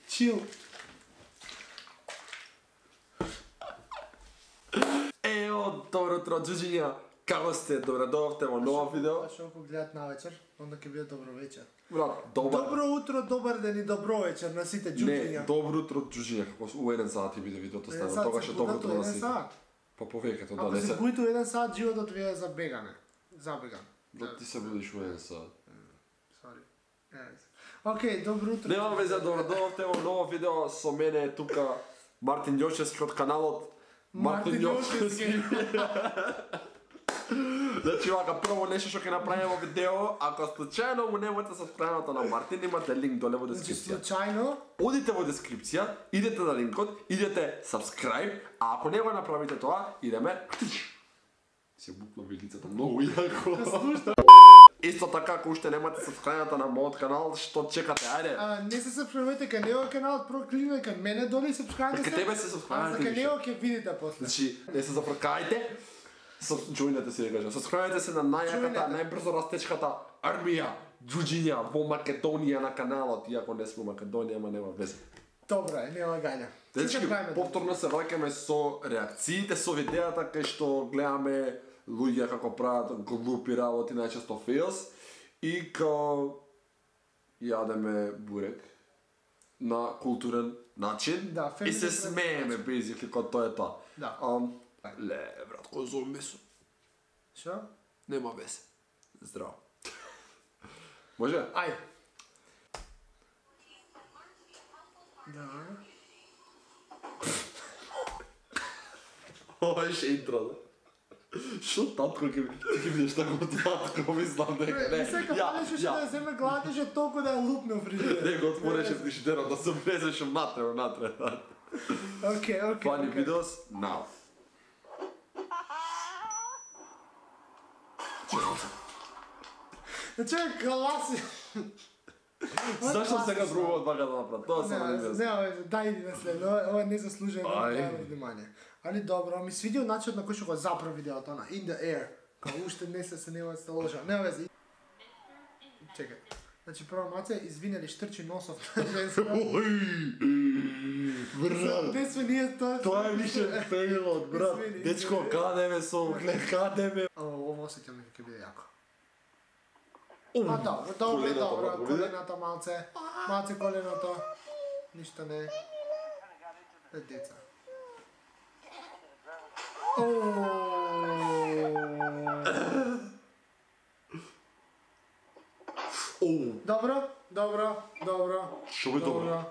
Chill. Ео, добро утро, джуджиња. Како сте? Добре дојдовте во ново видео. Што го гледат на вечер, онда ќе биде добро вечер. Брат, Добро утро, добар ден и добро вечер на сите джуджиња. Не, добро утро, джуджиња. Како у 1 сат ќе биде видеото стана. Тогаш е добро утро на сите. Па повеќето да не се. Ако се будите у 1 сат, животот ви е забегане. Забеган. Да ти се будиш у 1 сат. Sorry. Океј, добро утро. Нема везе, добро дојдовте во ново видео. Со мене е тука Мартин Јошевски од каналот Мартин Јошевски. Значи, вака, прво нешто што ќе направиме во видео, ако случајно му немате сабскрајбната на Мартин, имате линк доле во дескрипција. Случајно? Одите во дескрипција, идете на линкот, идете subscribe, а ако не го направите тоа, идеме... Се букна ви лицето многу јако. Исто така, ако уште немате сабскрајбната на мојот канал, што чекате, ајде? Не се сабскрајбете кај него каналот, прво кликнете кај мене доле и сабскрајбете се. Кај тебе се сабскрајбете кај него ќе видите после. Значи, не се зафркајте, джоинете се, да кажам. Сабскрајбете се на најјаката, најбрзо растечката армија, джуджиња во Македонија на каналот, иако не сме во Македонија, ама нема везе. Добро е, нема гања. Дечки, повторно се враќаме со реакциите, со видеата кај што гледаме луѓе како прават глупи работи, најчесто фейлс, и као јадеме бурек на културен начин и се смееме basically кога тоа е тоа. Да. Ле, брат, кој зови месо? Шо? Нема везе. Здраво. Може? Ајде. Да. Ова е интро, да? Шо татко ќе бидеш тако татко, мислам дека не. Сека палеше што да земе гладеше толку да ја лупне фрижидер. Не го отвореше фрижидерот да се влезеш внатре. Океј. Funny videos now. Значи гласи. Зашто сега другото бака да направат? Тоа се не везе. Не, дај иди на след. Ова не заслужува внимание. Али добро, ми свидел начинот на кој што го запра видеото на In the Air. Као уште не се нема сталожа. Не везе. Чекај. Значи прво маце извинели штрчи носов на женска. Брат. Не сме ние тоа. Тоа е више фейлот, брат. Дечко, каде ме со углед, каде ме? Ово осеќам дека ќе биде јако. Добро, колената малце коленото. Ништо не. Деца. Добро. Шо бе добро?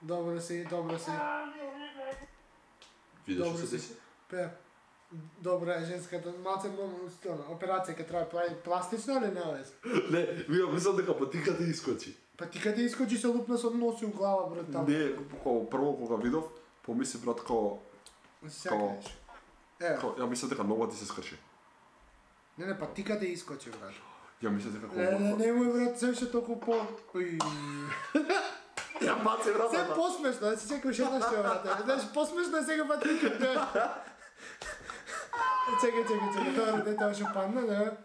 Добро си. Видиш што се деси? Добра е женската, малце операција ќе трае пластична или не вез? Не, вие мислам дека патиката искочи. Патиката искочи се лупна со носи у глава, брат, таму. Не, прво кога видов, помисли брат као... Сякаш. Ја мислам дека нова ти се скрши. Не, патиката искочи, брат. Ја мислам дека Немој, брат, се ше толку по... Ја баци брат. Се посмешно, да си чекаш една што брат. Знаеш, посмешно е сега патиката. Чекај, тоа дете още падна, да?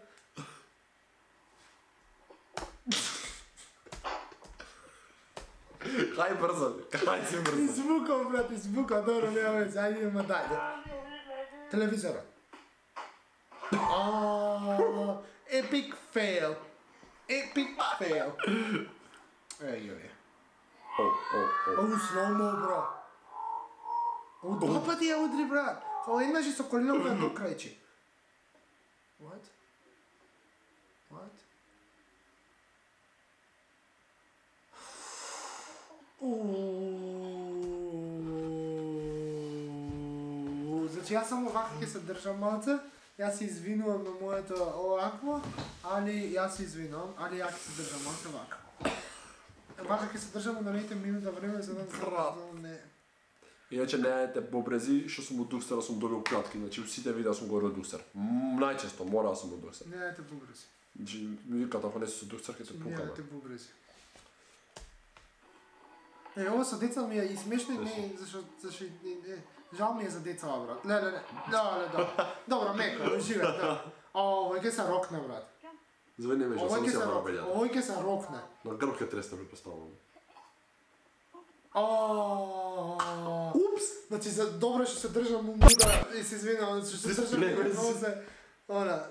Кај си брзо. Извукам, брат, добро, нема веќе, ајде идеме дајде. Телевизора. Epic fail. Еј. Слоумо, бро. Два пати ја удри, брат. Ова еднаш и со коленом на до крајче. What? Значи јас само вака ќе се држам малце. Јас се извинувам на моето овакво, али ја се извинувам, али ја ќе се држам малце вака. Вака ќе се држам на неите минута време за да не. Иначе не едете бобрези, што сум од дукстера сум добил кратки, значи у сите видеа сум говорил дукстер. Најчесто мора да сум од дукстер. Не едете бобрези. Значи ми викат ако не си со дукстер ќе се пукаме. Не едете бобрези. Ова со деца ми е и смешно и не, зашо жал ми е за деца, брат. Леле. Добро, меко, живе, да. Овој ќе се рокне, брат. Звени ме, само се мора беѓа. Овој ќе се рокне. На грб ќе тресне, предпоставувам. Упс! Значи, добро што се држам муда и се извинувам, што се држам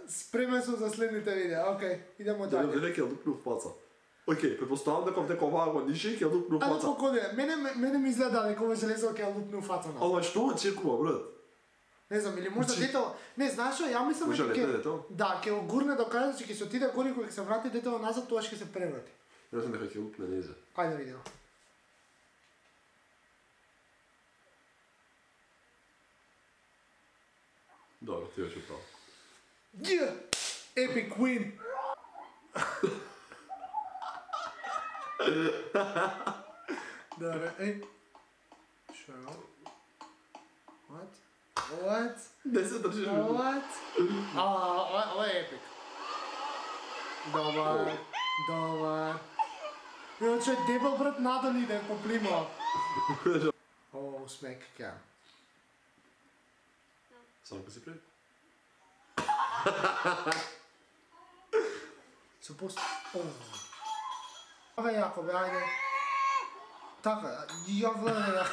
спремен сум за следните видеа. Океј, идемо дале. Деле ќе лупне в фаца. Океј, предпоставувам дека дека оваа го нише ќе лупне в фаца. Али покоде, мене ми изгледа дека ова железо ќе лупне в фаца. Ама што очекува, брат? Не знам, или можда дето... Не, знаеш што, ја мислам дека ќе... Да, ќе го гурне до крај, че ќе се отиде гори, кога ќе се врати дето назад, тоа ќе се преврати. Ја мислам дека ќе лупне низе. Ајде да видиме. Добро, ти беше право. Yeah! Epic win! Добре, Шо? What? Не се држиш. What? Ова е епик. Добар. Иначе дебел брат надали да поплима. Смек кам. Само ка си пред. Supposed. Ова е јако, бе, ајде. Така, ја влезе.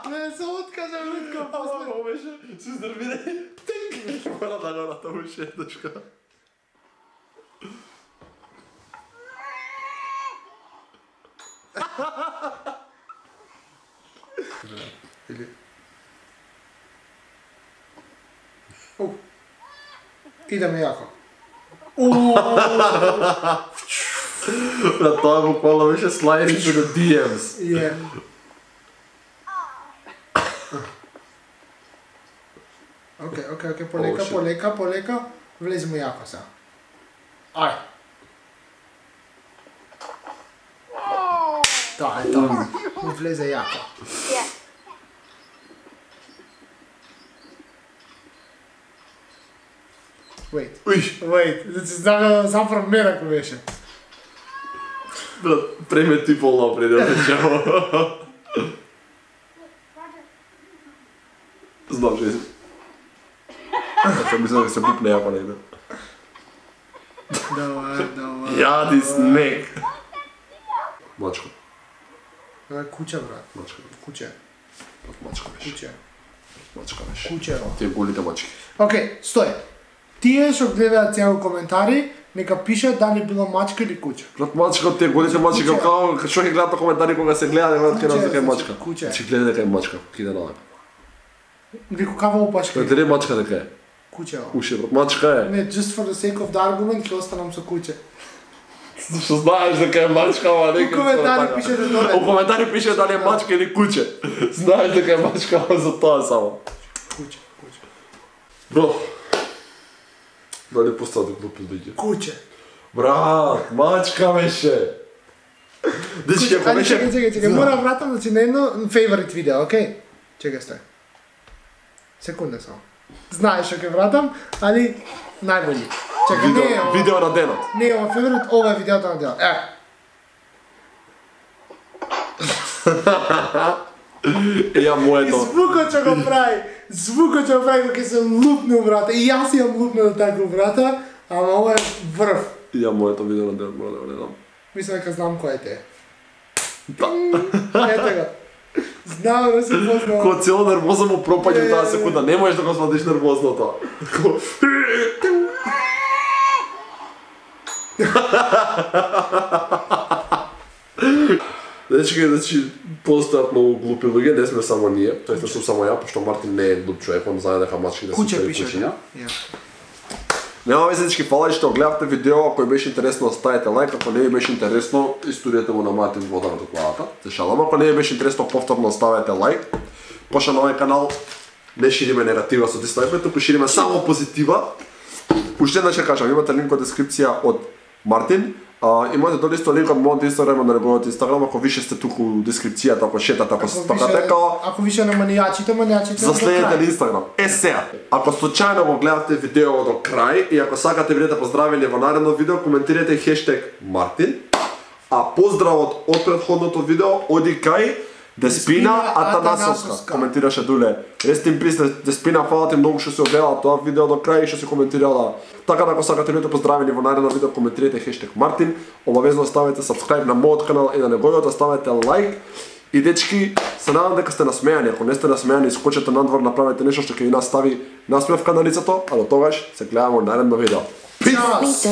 Не се откажа лутка после. Ама беше, се изнервирај. Тинк! Мора да го натаму шетачка. Или... Идеме јако. Тоа буквално беше slide into the DMs. Yeah. Океј, полека. Влеземо јако сега. Ај. Тоа е тоа. Ми влезе јако. Wait. Значи, зафрам мерако беше. Брат, премети пол напред, да речемо. Знам, че си. Мислам да се пупне јако негде. Давај. Јади снег. Мачка. Куче, брат. Мачка. Куче. Мачка беше. Куче. Тие голите мачки. Океј, стој. Тие што гледаат сега коментари, нека пишат дали било мачка или куче. Брат, мачка, тие голите мачки, како што ќе гледаат коментари кога се гледа, не гледаат дека е мачка. Куче. Ќе гледа дека е мачка, киде на. Вику кава опашка. Дали мачка дека е? Куче. Уше, брат, мачка е. Не, just for the sake of the argument, ќе останам со куче. Што знаеш дека е мачка, ама нека. У коментари пишете доле. У коментари пише дали е мачка или куче. Знаеш дека е мачка, ама за тоа само. Куче. Бро. Дали постаде глупи луѓе? Куче. Брат, мачка беше. Дечки, ако беше... Чекај, мора вратам, значи на едно favorite видео, окей? Чекај, стой. Секунда само. Знаеш што ќе вратам, али најбољи. Чекај, не е ова. Видео на денот. Не е ова favorite, ова е видеото на денот. Ја моето. Звукот што го прави кога ќе се лупне у врата. И јас имам лупне така у врата, ама ова е врв. Ја моето видео на денот, мора да го гледам. Мислам дека знам кој е те. Да. Ето го. Знам да се познавам. Ко цело нервоза му пропаѓа у таа секунда, не можеш да го сватиш нервозното. Значи, постојат многу глупи луѓе, не сме само ние, тоест не сум само ја, пошто Мартин не е глуп човек, он знае дека мачките се Куче пише, кучиња. Нема веќе дечки, фала што гледавте видео, ако ви беше интересно оставете лайк, ако не ви беше интересно, историјата му на Мартин вода на докладата. Се шалам, ако не ви беше интересно, повторно оставете лайк. Пошто на овој канал не шириме негатива со дислайковите, туку шириме само позитива. Уште еднаш ќе кажам, имате линк во дескрипција од Мартин, Имате долу исто линк од мојот Инстаграм, на неговиот Инстаграм, ако више сте туку у дескрипцијата, ако шетате, ако стакате као... Ако више на манијачите... Заследете ли Инстаграм. Сега, ако случајно го гледате видео до крај и ако сакате бидете поздравени во наредно видео, коментирате хештег Мартин, а поздравот од претходното видео оди кај Деспина Атанасовска. Коментираше Дуле. Rest in peace, Деспина, фала ти многу што си огледала тоа видео до крај и што си коментирала. Така да ако сакате бидете поздравени во наредно видео, коментирате хештег Мартин, обавезно ставете subscribe на мојот канал и на неговиот, ставете лайк. И дечки, се надам дека сте насмејани. Ако не сте насмејани, искочете надвор, направете нешто што ќе ви настави насмевка на лицето, а до тогаш се гледаме во наредно видео. Peace!